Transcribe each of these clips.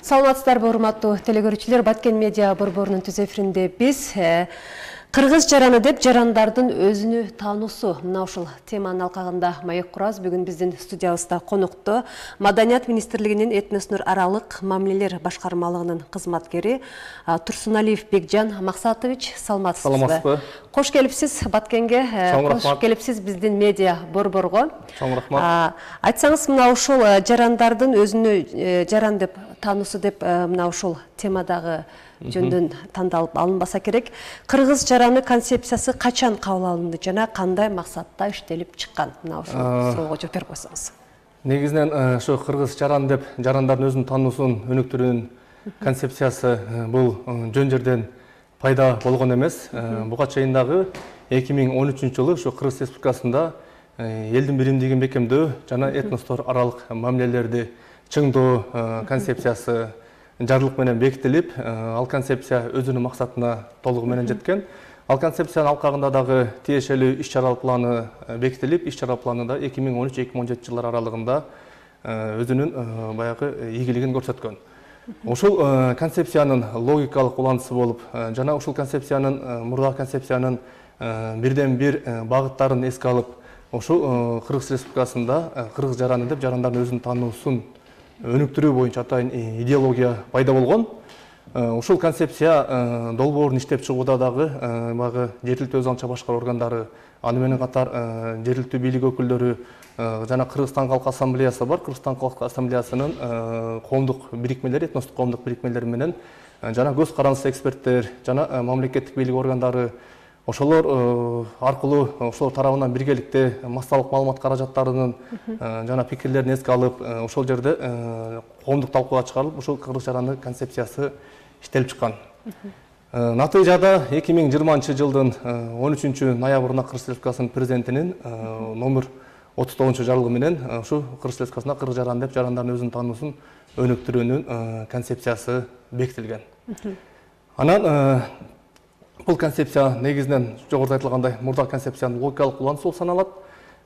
Саламатсыздарбы, урматтуу телекөрүүчүлөр, Баткен медиа борборунун түз эфиринде биз кыргыз жараны деп жарандардын өзүнү таануусу мына ушул теманын алкагында маек курабыз. Бүгүн биздин студиябызда конокто Маданият министрлигинин этностор аралык мамилелер башкармалыгынын кызматкери Турсуналиев Бекжан Максатович. Саламатсызбы? Кош келипсиз Баткенге, кош келипсиз биздин медиа борборго. Чоң рахмат. Айтсаңыз, мына ушул жарандардын өзүнү жаран деп таануусу деп мына ушул темадагы жөндөн тандалып алынбаса керек. Кыргыз жараны концепциясы качан кабыл алынды жана кандай максатта иштелип чыккан? Мына ушул суроого жооп берип койсоңуз. Негизинен ошо кыргыз жаран деп жарандардын өзүнүн таануусун өнүктүрүүнүн концепциясы бул жөн жерден пайда болгон эмес. Буга чейин дагы 2013 жылы ошо Кыргыз Республикасында элдин биримдигин бекемдөө жана этностор аралык мамилелерди чыңдоо концепциясы жарлык менен бекитилип, ал концепция өзүнүн максатына толугу менен жеткен. Ал концепциянын алкагында дагы тиешелүү иш-чара планы бекитилип, иш-чара планы да 2013-2017 жылдар аралыгында өзүнүн баягы ийгилигин көрсөткөн. Ушул концепциянын логикалык улантысы болуп, жана ушул концепциянын мурдагы концепциянын бирден бир багыттарын эске алып, ушул Кыргыз Республикасында кыргыз жараны деп жарандардын өзүнүн таануусун өнүктүрүү боюнча атайын идеология пайда болгон. Ушул концепция долбоорун иштеп чыгууда дагы баягы жергиликтүү өз алынча башкаруу органдары, аны менен катар жергиликтүү бийлик өкүлдөрү жана Кыргызстан Калк Ассамблеясы бар. Кыргызстан Калк Ассамблеясынын коомдук бирикмелери, этностук коомдук бирикмелери менен жана көз карандысыз эксперттер жана мамлекеттик бийлик органдары ошолор аркылуу ошолор тарабынан биргеликте массалык маалымат каражаттарынын жана пикирлерин эске алып, ошол жерде коомдук талкууга чыгарылып, ушул кыргыз жараны концепциясы иштелип чыккан. Натыйжада 2020 жылдын 13 ноябрында Кыргыз Республикасынын президентинин номер 39 жарлыгы менен ушу Кыргыз Республикасында кыргыз жараны деп жарандардын өзүнүн таануусун өнүктүрүүнүн концепциясы бекитилген. Анан бул концепция негизинен жогоруда айтылгандай мурдагы концепциянын логикалык улантысы болуп саналат.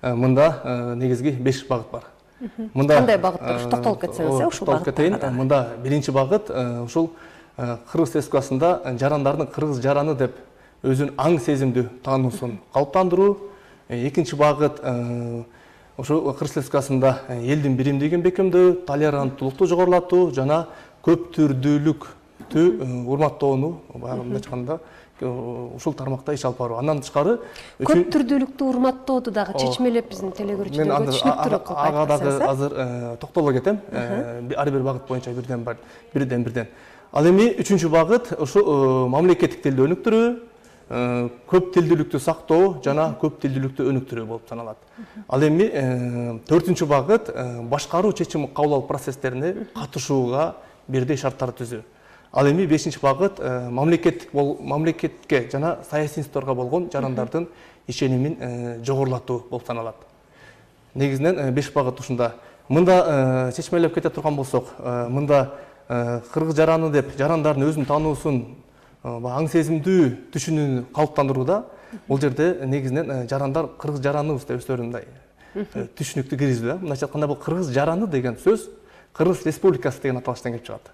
Мында негизги 5 багыт бар. Кандай багыттар? Токтолуп кетсеңиз, ушул багыттарга. Мында биринчи багыт ушул Кыргыз Республикасында жарандардын кыргыз жараны деп өзүнүн аң сезимдүү таануусун калыптандыруу. Экинчи багыт ошол Кыргыз Республикасында элдин биримдигин бекемдөө, толеранттуулукту жогорулатуу жана көп түрдүүлүктү урматтоону баягы айтканда ушул тармакта иш алып баруу. Андан тышкары көп түрдүүлүктү урматтооду дагы чечмелеп биздин телегөрүүчүлөргө түшүнүктүүрөөк кылып ага дагы азыр токтоло кетем. Ар бир багыт боюнча бирден. Ал эми үчүнчү багыт ушу мамлекеттик тилди өнүктүрүү, көп тилдүүлүктү сактоо жана көп тилдүүлүктү өнүктүрүү болуп саналат. Ал эми төртүнчү багыт башкаруу чечим кабыл алуу процесстерине катышууга бирдей шарттар түзүү. Ал эми 5-чи багыт мамлекетке жана саясий институттарга болгон жарандардын ишенимин жогорулатуу болуп саналат. Негизинен 5 багыт ушунда. Мында чечмелеп кете турган болсок, мында кыргыз жараны деп жарандардын өзүнүн таануусун аң сезимдүү түшүнүүнү калыптандырууда бул жерде негизинен жарандар кыргыз жараныбыз деп өздөрүн мындай түшүнүктү киргизүү. Мындайча айтканда бул кыргыз жараны деген сөз Кыргыз Республикасы деген аталыштан келип чыгат.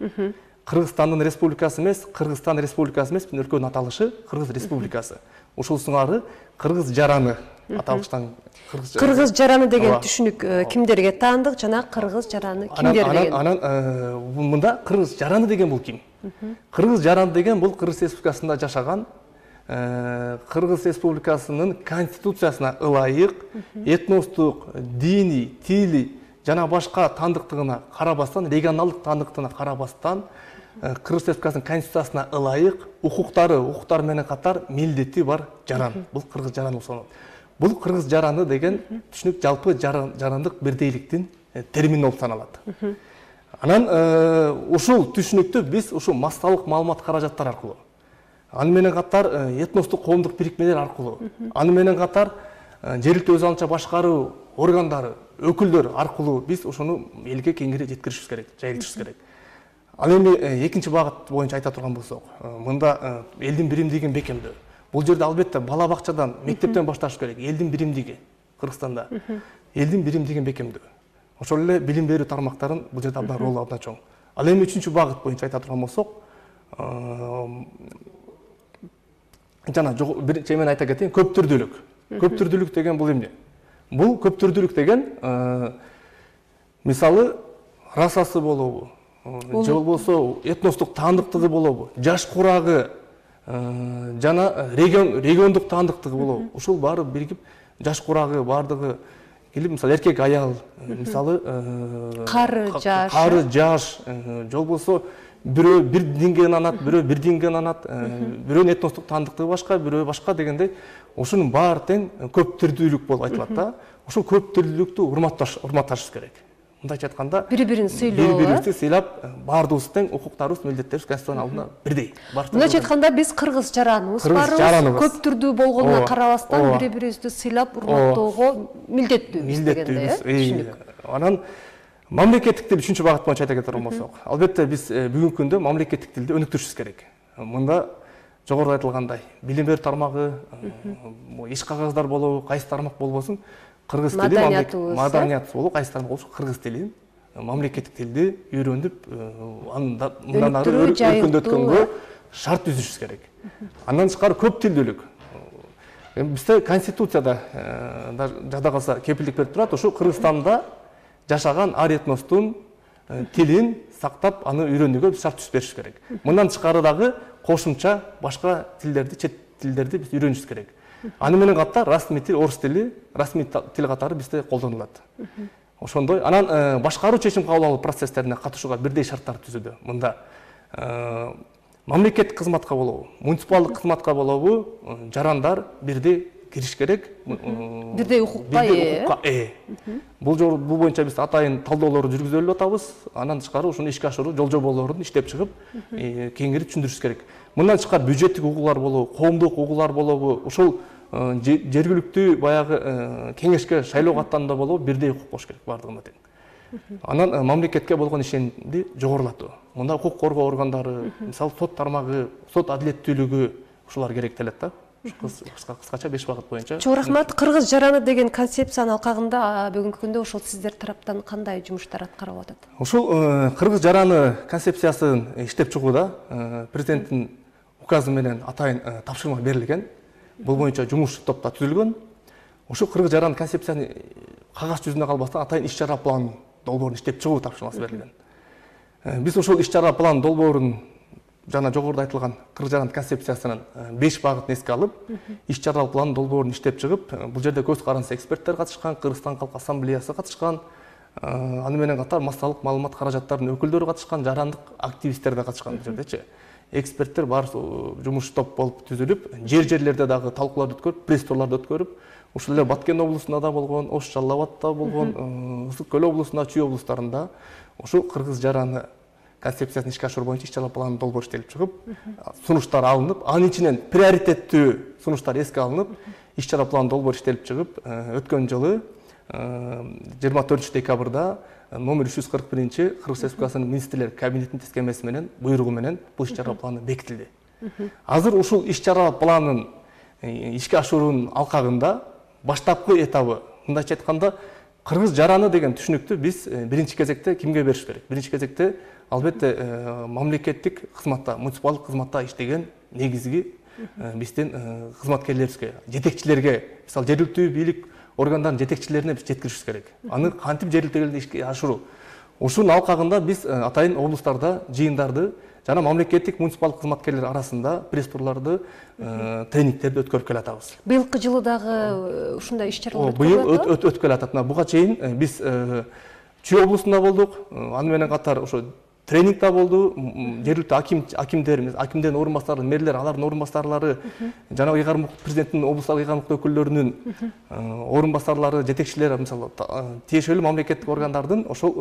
Кыргызстандын республикасы эмес, Кыргызстан республикасы эмес, биздин өлкөнүн аталышы Кыргыз Республикасы. Ушул сыңары кыргыз жараны аталыштан кыргыз жараны деген түшүнүк кимдерге таандык жана кыргыз жараны кимдер деген? Анан мында кыргыз жараны деген бул ким? Кыргыз жараны деген бул Кыргыз Республикасында жашаган, Кыргыз Республикасынын конституциясына ылайык этностук, диний, тили жана башка таандыктыгына карабастан, регионалдык таандыктыгына карабастан Кыргыз Республикасынын конституциясына ылайык укуктар менен катар милдети бар жаран. Бул кыргыз жараны болуп саналат. Бул кыргыз жараны деген түшүнүк жалпы жарандык бирдейликтин термини болуп саналат. Анан ушул түшүнүктү биз ушул массалык маалымат каражаттары аркылуу, аны менен катар этностук коомдук бирикмелер аркылуу, аны менен катар жергиликтүү өз алынча башкаруу органдары, өкүлдөр аркылуу биз ошону элге кеңири жеткиришибиз керек, жайылтышыбыз керек. Ал эми экинчи багыт боюнча айта турган болсок, мында элдин биримдигин бекемдөө. Бул жерде албетте бала бакчадан, мектептен башташ керек. Элдин биримдиги Кыргызстанда элдин биримдигин бекемдөө. Ошол эле билим берүү тармактарын бул жерде абдан ролу абдан чоң. Ал эми 3-чү багыт боюнча айта турган болсок, жана биринчи мен айта кетейин, көп түрдүүлүк. Көп түрдүүлүк деген бул эмне? Бул көп түрдүүлүк деген мисалы расасы болобу, же болбосо этностук таандыктыгы болобу, жаш курагы жана региондук таандыктыгы болобу. Ушул баары биригип жаш курагы баардыгы келип, мисалы эркек аял, мисалы кары жаш, же болбосо бирөө бир динге ынанат, бирөө бир динге ынанат, бирөөнүн этностук таандыктыгы башка, бирөө башка дегендей, ошонун баары тең көп түрдүүлүк болуп айтылат да. Ошол көп түрдүүлүктү урматташыбыз керек. Мындайча айтканда, бири-бирин сыйлоо, бири-бирибизди сыйлап, баардыгыбыз тең укуктарыбыз, милдеттерибиз Конституциянын алдында бирдей. Мындайча айтканда, биз кыргыз жараныбыз барбыз, көп түрдүү болгонуна карабастан бири-бирибизди сыйлап, урматтоого милдеттүүбүз дегендей. Анан мамлекеттик тил 3-чү багыт боюнча айта кетер болсок, албетте биз бүгүнкү күндө мамлекеттик тилди өнүктүрүшүбүз керек. Мында жогоруда айтылгандай, билим берүү тармагы, иш кагаздар болобу, кайсы тармак болбосун, кыргыз тили маданиятыбыз болуп, кайсы тармак болушу кыргыз тилин, мамлекеттик тилди үйрөнүп, мындан ары өркүндөткөнгө шарт түзүшүбүз керек. Андан тышкары көп тилдүүлүк. Бизде Конституцияда жада калса кепилдик берип турат, ушу Кыргызстанда жашаган ар этностун тилин сактап, аны үйрөнүүгө биз шарт түзүп беришибиз керек. Мындан тышкары дагы кошумча башка тилдерди, чет тилдерди биз үйрөнүшүбүз керек. Аны менен катар расмий тил, орус тили, расмий тил катары бизде колдонулат. Ошондой, анан башкаруу чечим кабыл алуу процесстерине катышууга бирдей шарттар түзүүдө. Мында мамлекеттик кызматка болобу, муниципалдык кызматка болобу, жарандар бирдей кириш керек. Бирдей укукка ээ. Бул боюнча биз атайын талдоолорду жүргүзүп атабыз. Андан тышкары ушуну ишке ашыруу жол жоболорун иштеп чыгып, кеңири түшүндүрүшүбүз керек. Мындан тышкары бюджеттик угуулар болобу, коомдук угуулар болобу, ушул жергиликтүү баягы кеңешке шайлоого аттанууда болобу, бирдей укук болуш керек баардыгына тең. Анан мамлекетке болгон ишенимди жогорулатуу. Мында укук коргоо органдары, мисалы сот тармагы, сот адилеттүүлүгү ушулар керектелет да. Кыскача 5 багыт боюнча. Чоң рахмат. Кыргыз жараны деген концепциянын алкагында бүгүнкү күндө ошол сиздер тараптан кандай жумуштар аткарылып атат? Ушул кыргыз жараны концепциясын иштеп чыгууда президенттин указы менен атайын тапшырма берилген. Бул боюнча жумуш топ да түзүлгөн. Ушул кыргыз жараны концепцияны кагаз жүзүндө калбастан атайын иш-чара план долбоорун иштеп чыгуу тапшырмасы берилген. Биз ошол иш-чара план долбоорун жана жогоруда айтылган кыргыз жараны концепциясынын 5 багытын эске алып, иш-чара план долбоорун иштеп чыгып, бул жерде көз каранды эксперттер катышкан, Кыргызстан Калк Ассамблеясы катышкан, аны менен катар массалык маалымат каражаттарынын өкүлдөрү катышкан, жарандык активисттер да катышкан бул жердечи. Эксперттер бар жумуш топ болуп түзүлүп, жерлерде дагы талкууларды өткөрүп, пресс-турларды өткөрүп, ушул эле Баткен облусунда да болгон, Ош Жалал Абадта болгон, Ысык Көл облусунда, Чүй облустарында ушул кыргыз жараны концепциясын ишке ашыруу боюнча иш-чара планы долбоор иштелип чыгып, сунуштар алынып, анын ичинен приоритеттүү сунуштар эске алынып, иш-чара планы долбоор иштелип чыгып, өткөн жылы 24 декабрда номер 341 Кыргыз Республикасынын министрлер кабинетинин тескемеси менен, буйругу менен бул иш-чара планы бекитилди. Азыр ушул иш-чара планын ишке ашыруунун алкагында баштапкы этабы, мындайча айтканда, кыргыз жараны деген түшүнүктү биз биринчи кезекте кимге бериш керек? Биринчи кезекте албетте мамлекеттик кызматта, муниципалдык кызматта иштеген негизги биздин кызматкерлерибизге, жетекчилерге, мисалы жергиликтүү бийлик органдарынын жетекчилерине биз жеткиришибиз керек. Аны кантип жергиликтүү ишке ашыруу? Ушунун алкагында биз атайын облустарда жыйындарды жана мамлекеттик муниципалдык кызматкерлер арасында пресс-турларды, тренингтерди өткөрүп келатабыз. Быйылкы жылы дагы ушундай иш-чаралар өткөрүлүп келатат. Буга чейин биз Чүй облусунда болдук, аны менен катар ошо тренингда болду, жергиликтүү акимдердин орун бастары, мэрлер, алардын орун бастарлары, жана президенттин облустук ыйгарым өкүлдөрүнүн орун бастарлары, жетекчилери, мисалы, тиешелүү мамлекеттик органдардын ошол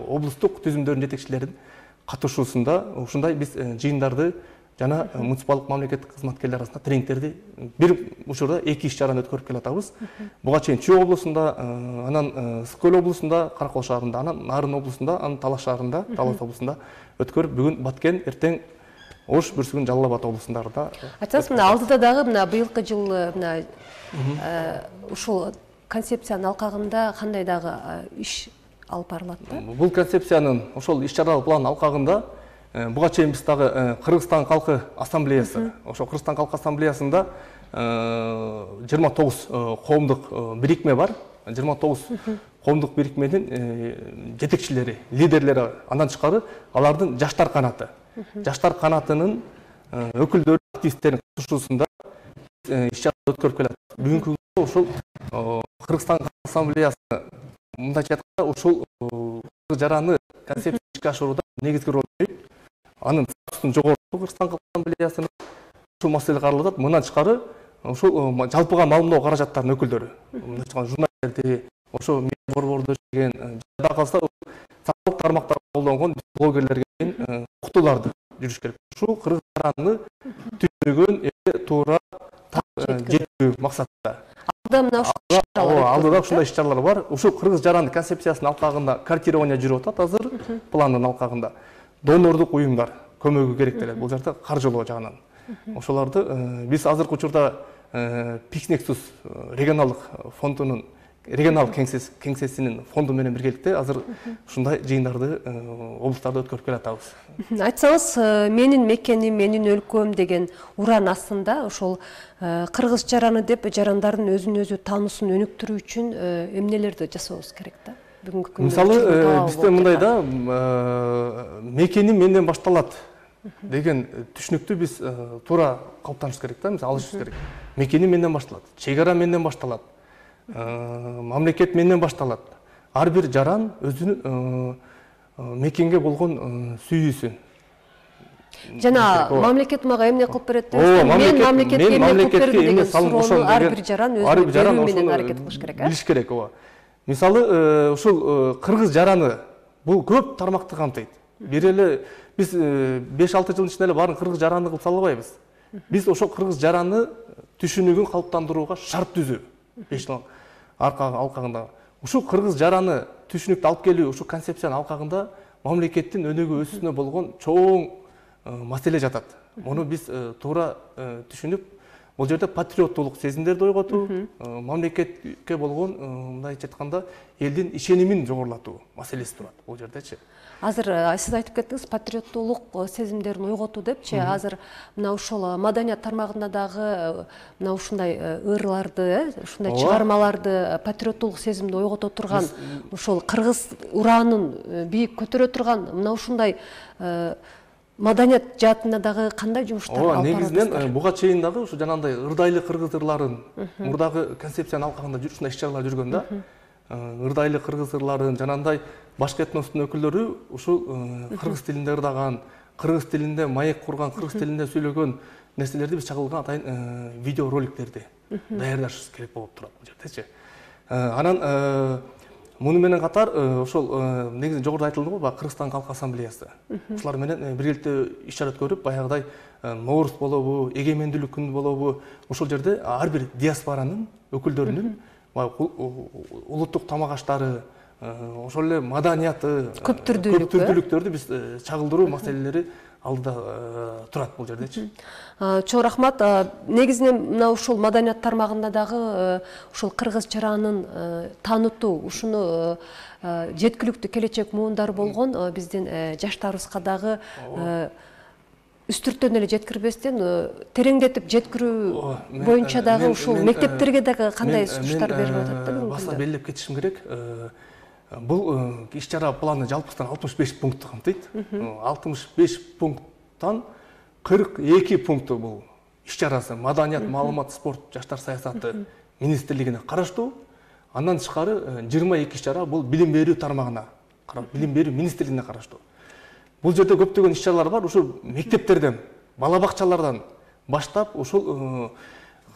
облустук түзүмдөрдүн жетекчилеринин катышуусунда ушундай биз жыйындарды жана муниципалдык мамлекеттик кызматкерлер арасында тренингтерди бир учурда 2 иш-чараны өткөрүп келатабыз. Буга чейин Чүй облусунда, анан Ысык Көл облусунда, Каракол шаарында, анан Нарын облусунда, анан Талас шаарында, Талас облусунда өткөрүп, бүгүн Баткен, эртең Ош, Бүрсүгүн, Жалал Абад облустарында. Айтасыз, мына алдыда дагы мына быйылкы жылы мына ушул концепциянын алкагында кандай дагы иш алып барылат да. Бул концепциянын ошол иш-чаралык план алкагында буга чейин биз дагы Кыргызстан Калкы Ассамблеясы, ошо Кыргызстан Калкы Ассамблеясында 29 коомдук бирикме бар. 29 коомдук бирикменин жетекчилери, лидерлери, андан тышкары алардын жаштар канаты. Жаштар канатынын өкүлдөрү, активисттердин катышуусунда иш-чара өткөрүп келет. Бүгүнкү күндө ошол Кыргызстан Ассамблеясы мындайча айтканда ушул кыргыз жараны концепцияны ишке ашырууда негизги роль ойнойт. Анын статусун жогортуу Кыргызстан Ассамблеясынын ушул маселе каралып атат. Мындан тышкары ушул жалпыга маалымдоо каражаттарынын өкүлдөрү, мындай айтканда журналисттерди, ошо медиа борбордо иштеген, жада калса социалдык тармактарда колдонгон блогерлерге уктууларды жүрүш керек. Ушул кыргыз жараны түшүнүгүн туура жеткирүү максатында. Алдыда ушундай иш-чаралар бар. Ушул кыргыз жараны концепциясынын алкагында картирование жүрүп атат азыр пландын алкагында. Донордук уюмдар көмөгү керектелет бул жерде каржылоо жагынан. Ошолорду биз азыркы учурда Pixnexus регионалдык фондунун регионалдык кеңсесинин фонду менен биргеликте азыр ушундай жыйындарды облустарда өткөрүп келатабыз. Айтсаңыз, менин мекеним, менин өлкөм деген уран астында ошол кыргыз жараны деп жарандардын өзүн өзү таануусун өнүктүрүү үчүн эмнелерди жасабыбыз керек да? Бүгүнкү күндө мисалы бизде мындай да, мекеним менден башталат деген түшүнүктү биз туура калыптанышыбыз керек да, мисалы алышыбыз керек. Мекеним менден башталат, чек ара менден башталат, мамлекет менден башталат. Ар бир жаран өзүнүн мекенге болгон сүйүүсүн. Жана мамлекет мага эмне кылып берет деп, мен мамлекетке эмне кылып бердим деген суроону ар бир жаран өзүнүн берүү менен аракет кылыш керек. Билиш керек, ооба. Мисалы, ушул кыргыз жараны бул көп тармакты камтыйт. Бир эле биз 5-6 жыл ичинде эле баарын кыргыз жараны кылып сала албайбыз. Биз ошол кыргыз жараны түшүнүгүн калыптандырууга шарт түзүү. 5 жыл алкагында. Ушул кыргыз жараны түшүнүктү алып келүү, ушул концепциянын алкагында мамлекеттин өнүгүү өсүүсүнө болгон чоң маселе жатат. Муну биз туура түшүнүп, бул жерде патриоттуулук сезимдерди ойготуу, мамлекетке болгон мындайча айтканда элдин ишенимин жогорулатуу маселеси турат бул жердечи. Азыр сиз айтып кеттиңиз патриоттуулук сезимдерин ойготуу депчи. Азыр мына ушул маданият тармагында дагы мына ушундай ырларды, ушундай чыгармаларды патриоттуулук сезимди ойгото турган, ушул кыргыз ураанын биик көтөрө турган мына ушундай маданият жаатында дагы кандай жумуштар алып барасыздар? Негизинен буга чейин дагы ушу жанагындай ырдайлы кыргыз ырларын мурдагы концепциянын алкагында ушундай иш-чаралар жүргөн да. Ырдайлы кыргыз ырларын, жанагындай башка этностун өкүлдөрү ушул кыргыз тилинде ырдаган, кыргыз тилинде маек курган, кыргыз тилинде сүйлөгөн нерселерди биз чагылган атайын видео роликтерди даярдашыбыз керек болуп турат бул жердечи. Анан муну менен катар ошол негизи жогоруда айтылды го, Кыргызстан Калкы Ассамблеясы. Ушулар менен биргеликте иш-чара өткөрүп, баягыдай Нооруз болобу, эгемендүүлүк күнү болобу, ошол жерде ар бир диаспоранын өкүлдөрүнүн улуттук тамак аштары, ошол эле маданияты, көптүрдүүлүктөрдү биз чагылдыруу маселелери алдыда турат бул жердечи. Чоң рахмат. Негизинен мына ушул маданият тармагында дагы ушул кыргыз жаранын таанытуу, ушуну жеткиликтүү келечек муундар болгон биздин жаштарыбызга дагы үстүртөн эле жеткирбестен тереңдетип жеткирүү боюнча дагы ушул мектептерге дагы кандай сунуштар берилип атат да? Баса белгилеп кетишим керек. Бул иш-чара планы жалпысынан 65 пунктты камтыйт. 65 пункттан 42 пункту бул иш-чарасы маданият, маалымат, спорт, жаштар саясаты министрлигине караштуу. Андан тышкары 22 иш-чара бул билим берүү тармагына, билим берүү министрлигине караштуу. Бул жерде көптөгөн иш-чаралар бар. Ушул мектептерден, бала бакчалардан баштап ушул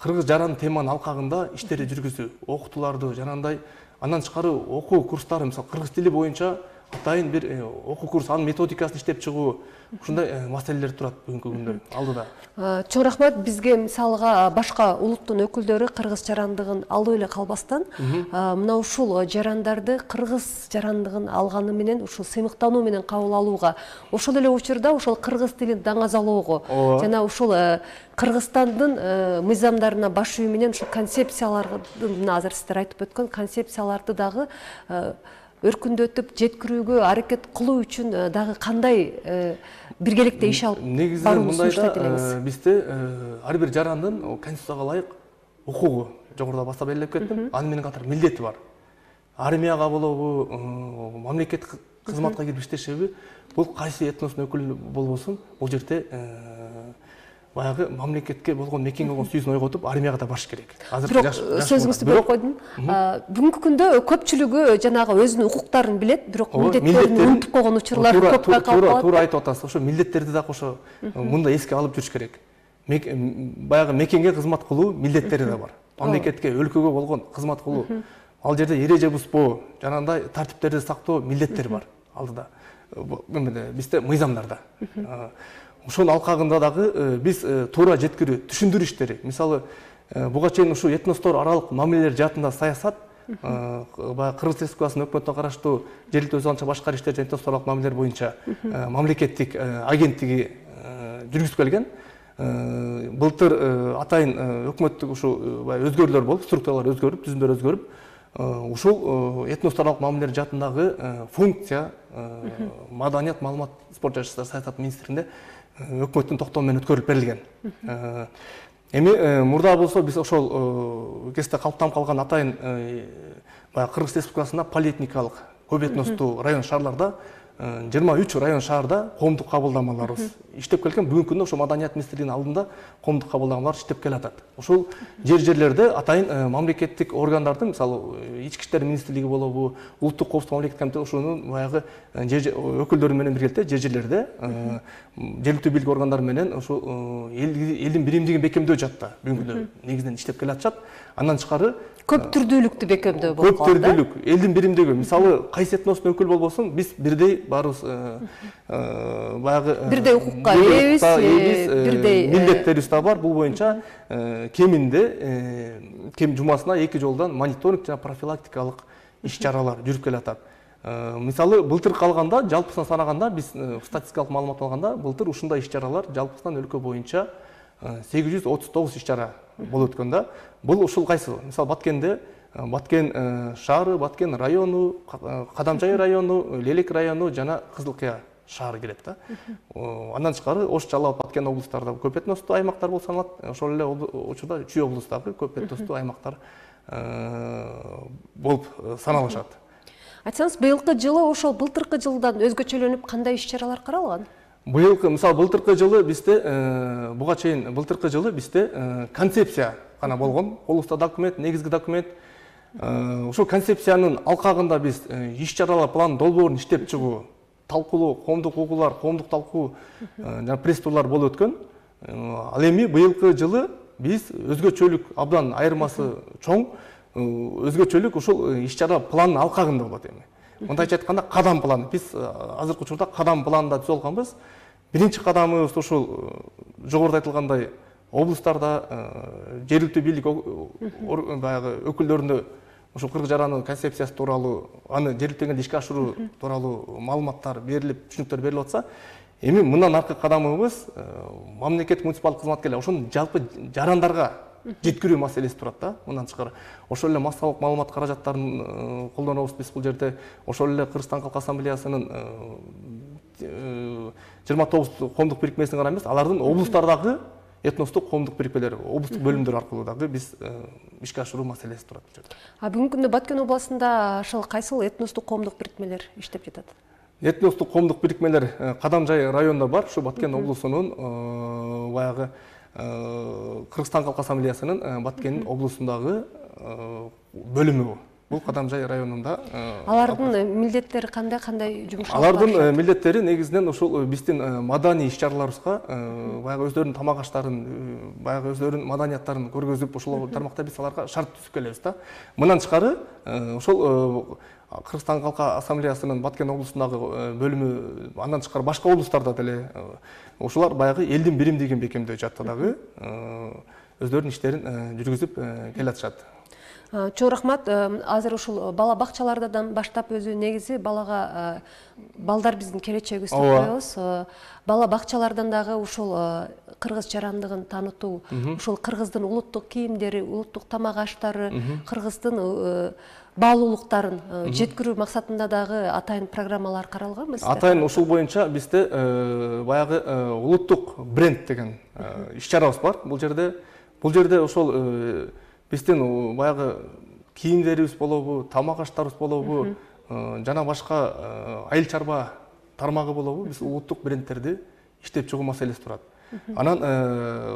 кыргыз жаран теманын алкагында иштери жүргүзүү, окутууларды жанагындай. Андан тышкары окуу курстары, мисалы кыргыз тили боюнча атайын бир окуу курс, анын методикасын иштеп чыгуу, ушундай маселелер турат бүгүнкү күндө алдыда. Чоң рахмат. Бизге мисалга башка улуттун өкүлдөрү кыргыз жарандыгын алып эле калбастан, мына ушул жарандарды кыргыз жарандыгын алганы менен ушул сыймыктануу менен кабыл алууга, ошол эле учурда ушул кыргыз тилин даңазалоого жана ушул Кыргызстандын мыйзамдарына баш ийүү менен ушул концепциялардын, азыр сиздер айтып өткөн концепцияларды дагы өркүндөтүп жеткирүүгө аракет кылуу үчүн дагы кандай биргеликте иш алып барууну сунуштайт элеңиз? Бизде ар бир жарандын конституцияга ылайык укугу, жогоруда баса белгилеп кеттим, аны менен катар милдети бар. Армияга болобу, мамлекеттик кызматка кирип иштешеби, бул кайсы этностун өкүлү болбосун, бул жерде баягы мамлекетке болгон мекенге болгон сүйүүсүн ойготуп, армияга да барыш керек. Бирок сөзүңүздү бөлүп койдум. Бүгүнкү күндө көпчүлүгү жанагы өзүнүн укуктарын билет, бирок милдеттерин унутуп койгон учурлар көп байкалып калат. Туура айтып атасыз. Ошо милдеттерди да ошо мында эске алып жүрүш керек. Баягы мекенге кызмат кылуу милдеттери да бар. Мамлекетке, өлкөгө болгон кызмат кылуу. Ал жерде эреже бузбоо, жанагындай тартиптерди сактоо милдеттери бар алдыда. Бизде мыйзамдарда. Ошонун алкагында дагы биз туура жеткирүү, түшүндүрүү иштери. Мисалы, буга чейин ушу этностор аралык мамилелер жаатында саясат баягы Кыргыз Республикасынын өкмөтүнө караштуу жергиликтүү өз алынча башкар иштер жана этностор аралык мамилелер боюнча мамлекеттик агенттиги жүргүзүп келген. Былтыр атайын өкмөттүк ушу өзгөрүүлөр болуп, структуралар өзгөрүп, түзүмдөр өзгөрүп, ушул этностор аралык мамилелер жаатындагы функция маданият, маалымат, спорт жана саясат министрлигинде өкмөттүн токтому менен өткөрүлүп берилген. Эми мурда болсо биз ошол кезде калыптанып калган атайын Кыргыз Республикасында полиэтникалык көп этностуу район шаарларда 23 район шаарда коомдук кабылдамаларыбыз иштеп келген. Бүгүнкү күндө ошо маданият министрлигинин алдында коомдук кабылдамалар иштеп келатат. Ошол жерлерде атайын мамлекеттик органдардын, мисалы ички иштер министрлиги болобу, улуттук коопсуздук мамлекеттик комитети ошонун баягы өкүлдөрү менен биргеликте жерлерде жергиликтүү бийлик органдары менен ошо элдин биримдигин бекемдөө жаатта бүгүнкү күндө негизинен иштеп келатышат. Андан тышкары көп түрдүүлүктү бекемдөө болуп калды. Көп түрдүүлүк, элдин биримдиги. Мисалы, кайсы этностун өкүлү болбосун, биз бирдей баарыбыз баягы бирдей укукка ээбиз, бирдей милдеттерибиз да бар. Бул боюнча кеминде кем жумасына 2 жолдон мониторинг жана профилактикалык иш-чаралар жүрүп келатат. Мисалы, былтыр калганда, жалпысынан санаганда, биз статистикалык маалымат алганда, былтыр ушундай иш-чаралар жалпысынан өлкө боюнча 839 иш-чара болуп өткөн да. Бул ушул кайсы? Мисалы, Баткенде, Баткен шаары, Баткен району, Кадамжай району, Лелек району жана Кызылкыя шаары кирет да. Андан тышкары Ош, Жалал абад, Баткен облустарда көп этностуу аймактар болуп саналат. Ошол эле учурда Чүй облустагы көп этностуу аймактар болуп саналышат. Айтсаңыз, быйылкы жылы ошол былтыркы жылдан өзгөчөлөнүп кандай иш-чаралар каралган? Мисалы, былтыркы жылы бизде буга чейин былтыркы жылы бизде концепция гана болгон. Колубузда документ, негизги документ. Ошол концепциянын алкагында биз иш-чаралар план долбоорун иштеп чыгуу, талкуулоо, коомдук угуулар, коомдук талкуу жана пресс-турлар болуп өткөн. Ал эми быйылкы жылы биз өзгөчөлүк абдан айырмасы чоң, өзгөчөлүк ушул иш-чара пландын алкагында болот эми. Мындайча айтканда, кадам план. Биз азыркы учурда кадам планында түзүп алганбыз. Биринчи кадамыбыз ушул жогоруда айтылгандай облустарда жергиликтүү бийлик баягы өкүлдөрүнө ушул кыргыз жараны концепциясы тууралуу, аны жергиликтүү ишке ашыруу тууралуу маалыматтар берилип, түшүнүктөр берилип атса, эми мындан аркы кадамыбыз мамлекеттик муниципалдык кызматкерлер ошону жалпы жарандарга жеткирүү маселеси турат да. Мындан тышкары ошол эле массалык маалымат каражаттарын колдонобуз биз бул жерде. Ошол эле Кыргызстан Калк Ассамблеясынын 29 коомдук бирикмесине гана эмес, алардын облустардагы этностук коомдук бирикмелер, облустук бөлүмдөр аркылуу дагы биз ишке ашыруу маселеси турат бул жерде. Бүгүнкү күндө Баткен областында ошол кайсыл этностук коомдук бирикмелер иштеп жатат? Этностук коомдук бирикмелер Кадамжай районунда бар, ушу Баткен облусунун баягы Кыргызстан Калк Ассамблеясынын Баткен облусундагы бөлүмү. Бул Кадамжай районунда. Алардын милдеттери кандай жумуш? Алардын милдеттери негизинен ушул биздин маданий иш-чараларыбызга баягы өздөрүнүн тамак аштарын, баягы өздөрүнүн маданияттарын көргөзүп, ушул тармакта биз аларга шарт түзүп келебиз да. Мындан тышкары ошол Кыргызстан Калк Ассамблеясынын Баткен облусундагы бөлүмү, андан тышкары башка облустарда деле ошолар баягы элдин биримдигин бекемдөө жаатта дагы өздөрүнүн иштерин жүргүзүп келатышат. Чоң рахмат. Азыр ушул бала бакчалардан баштап өзү негизи балага балдар биздин келечегибиз деп коебуз. Бала бакчалардан дагы ушул кыргыз жарандыгын таанытуу, ушул кыргыздын улуттук кийимдери, улуттук тамак аштары, кыргыздын баалуулуктарын жеткирүү максатында дагы атайын программалар каралганбы? Атайын ушул боюнча бизде баягы улуттук бренд деген иш-чарабыз бар. Бул жерде ошол биздин баягы кийимдерибиз болобу, тамак аштарыбыз болобу, жана башка айыл чарба тармагы болобу, биз улуттук брендтерди иштеп чыгуу маселеси турат. Анан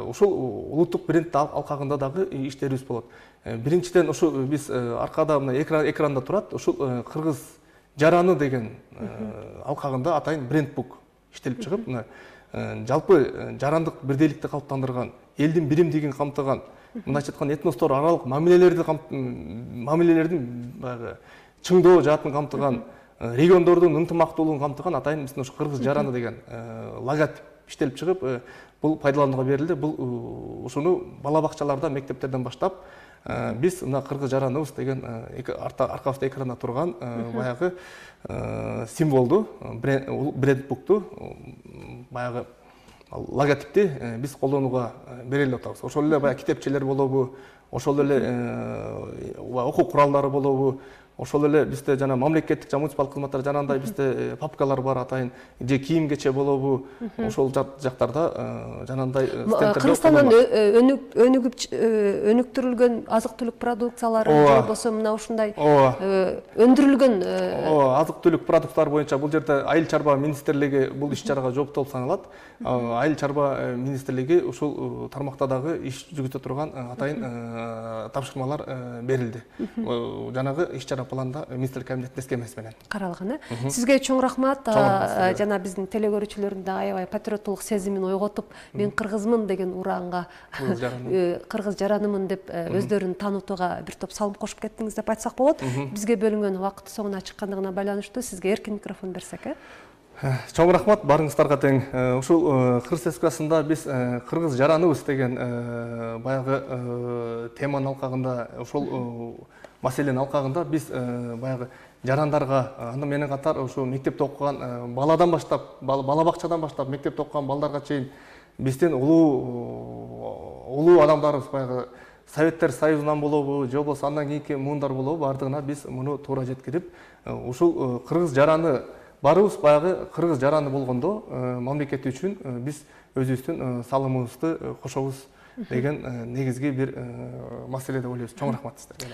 ушул улуттук бренд алкагында дагы иштерибиз болот. Биринчиден ушу биз аркада мына экранда турат, ушул кыргыз жараны деген алкагында атайын брендбук иштелип чыгып, мына жалпы жарандык бирдейликти калыптандырган, элдин биримдигин камтыган, мындайча айтканда этностор аралык мамилелердин баягы чыңдоо жаатын камтыган, региондордун ынтымактуулугун камтыган атайын биздин ушу кыргыз жараны деген логотип иштелип чыгып, бул пайдаланууга берилди. Бул ушуну бала бакчаларда, мектептерден баштап биз мына кыргыз жараныбыз деген аркабызда экранда турган баягы символду, брендбукту, баягы логотипти биз колдонууга берели деп атабыз. Ошол эле баягы китепчелер болобу, ошол эле окуу куралдары болобу, ошол эле бизде жана мамлекеттик жана муниципалдык кызматтар жанагындай бизде папкалар бар атайын, же кийим кече болобу, ошол жактарда жанагындай стендтерде Кыргызстандан өнүктүрүлгөн азык-түлүк продукциялары же болбосо мына ушундай өндүрүлгөн азык-түлүк продукттары боюнча бул жерде айыл чарба министрлиги бул иш-чарага жооптуу болуп саналат. Айыл чарба министрлиги ушул тармакта дагы иш жүргүзө турган атайын тапшырмалар берилди. Жанагы иш-чара планда министрлик кабинетинин эскемеси менен каралган. Сизге чоң рахмат. Жана биздин телекөрүүчүлөрдүн да аябай патриоттулук сезимин ойготуп, мен кыргызмын деген ураанга кыргыз жаранымын деп өздөрүн таанытууга бир топ салым кошуп кеттиңиз деп айтсак болот. Бизге бөлүнгөн убакыт соңуна чыккандыгына байланыштуу сизге эркин микрофон берсек. Чоң рахмат барыңыздарга тең. Ушул Кыргыз Республикасында биз кыргыз жараныбыз деген баягы теманын алкагында, ошол маселенин алкагында биз баягы жарандарга, аны менен катар ушу мектепте окуган баладан баштап, бала бакчадан баштап мектепте окуган балдарга чейин биздин улуу адамдарыбыз баягы Советтер Союзунан болобу, же болбосо андан кийинки муундар болобу, бардыгына биз муну туура жеткирип, ушул кыргыз жараны барыбыз баягы кыргыз жараны болгондо мамлекет үчүн биз өзүбүздүн салымыбызды кошобуз деген негизги бир маселе деп ойлойбуз. Чоң рахмат сиздерге.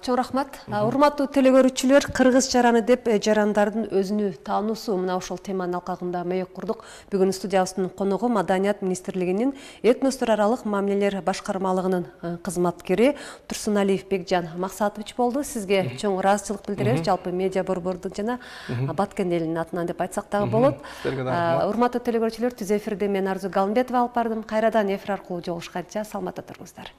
Чоң рахмат. Урматтуу телекөрүүчүлөр, кыргыз жараны деп жарандардын өзүнү таануусу мына ушул теманын алкагында маек курдук. Бүгүн студиябыздын коногу Маданият министрлигинин этностор аралык мамилелер башкармалыгынын кызматкери Турсуналиев Бекжан Максатович болду. Сизге чоң ыраазычылык билдиребиз. Жалпы медиа борбордун жана Баткен элинин атынан деп айтсак дагы болот. Урматтуу телекөрүүчүлөр, түз эфирде мен Арзу Галымбетова алып бардым. Кайрадан эфир аркылуу жолугушканча саламатта туруңуздар.